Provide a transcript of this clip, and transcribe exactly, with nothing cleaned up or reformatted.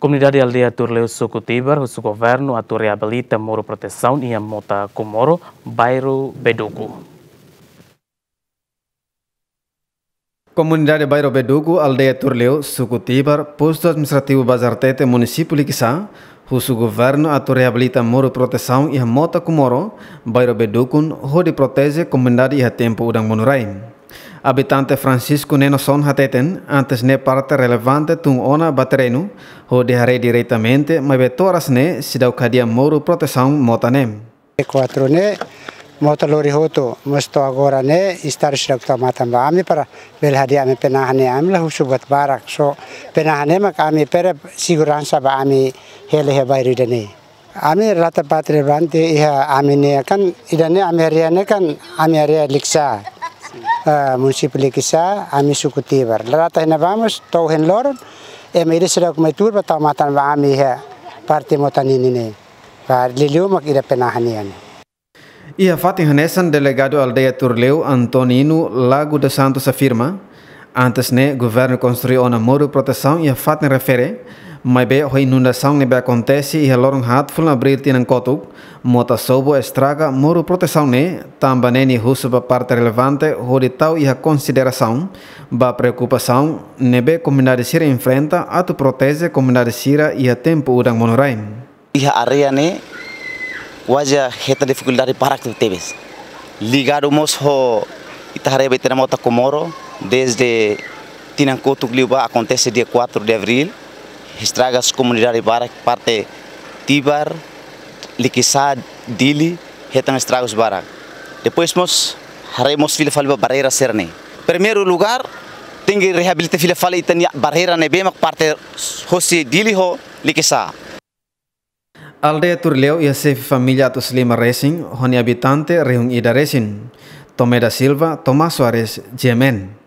Komunidade aldeia Turleu, suku Tibar, husu governu atu reabilita muru protesaun iha Mota Kumoro, bairru Beduku. Komunidade bairru Beduku, aldeia Turleu, suku Tibar, postu administrativu Bazartete, munisípiu Likisá, husu governu atu reabilita muru protesaun iha Mota Kumoro, bairru Bedukun, hodi proteje komunidade iha tempu udan monu rai. Abitante Francisco Nenoson hateten, antes ne'e parte relevante tun ona ba terrenu, hodi haree diretamente, maibé to'o oras ne'e seidauk hadi'a muru protesaun mota ne'e. Kuatru ne'e, mota lori hotu, mas to'o agora ne'e, estadu seidauk tau matan ba ami para bele hadi'a ami penaha ne'e, ami la husu buat barak, só penaha ne'e mak ami prepara seguransa ba ami hela iha bairru ida-ne'e. Ami relata parte relevante iha ami-nia kan, ida-ne'e ami área ne'e kan, ami área Likisá, eh, munisípiu Likisá, ami suku Tibar. Relata iha ne'ebá mós, to'o ohin loron, ema ida seidauk mai tuur ba tau matan ba ami iha parte mota ninin ne'e. Ba liuliu mak ida penaha nian. Iha fatin hanesan, delegadu aldeia Turleu, Antonino Lago dos Santos, afirma, antes ne'e governu konstrui ona muru protesaun iha fatin refere, maibé ho inundasaun ne'ebé akontese iha loron haat fulan Abríl tinan kotuk, mota sobu estraga muru protesaun ne'e, tanba ne'e nia husu ba parte relevante hodi tau iha konsiderasaun ba preokupasaun ne'ebé komunidade sira enfrenta atu proteje komunidade sira iha tempu udan monu rai. Iha área ne'e kuaze hetan difikuldade barak tebetebes. Ligadu mós ho ita haree ba ita-nia Mota Kumoro, dezde tinan kotuk liubá akontese dia kuatru de Abríl, estraga komunidade barak parte Tibar, Likisá, Dili, hetan estragus barak. Depois mós haree mós fila fali ba barreira sira-ne'e. Primeiru lugár, tenke reabilita fila fali ita-nia barreira ne'ebé mak parte hosi Dili ho Likisá. Aldeia Turleu iha xefe família atus lima resin, ho nia abitante rihun ida resin. Tomé da Silva, Tomás Soares, G M N.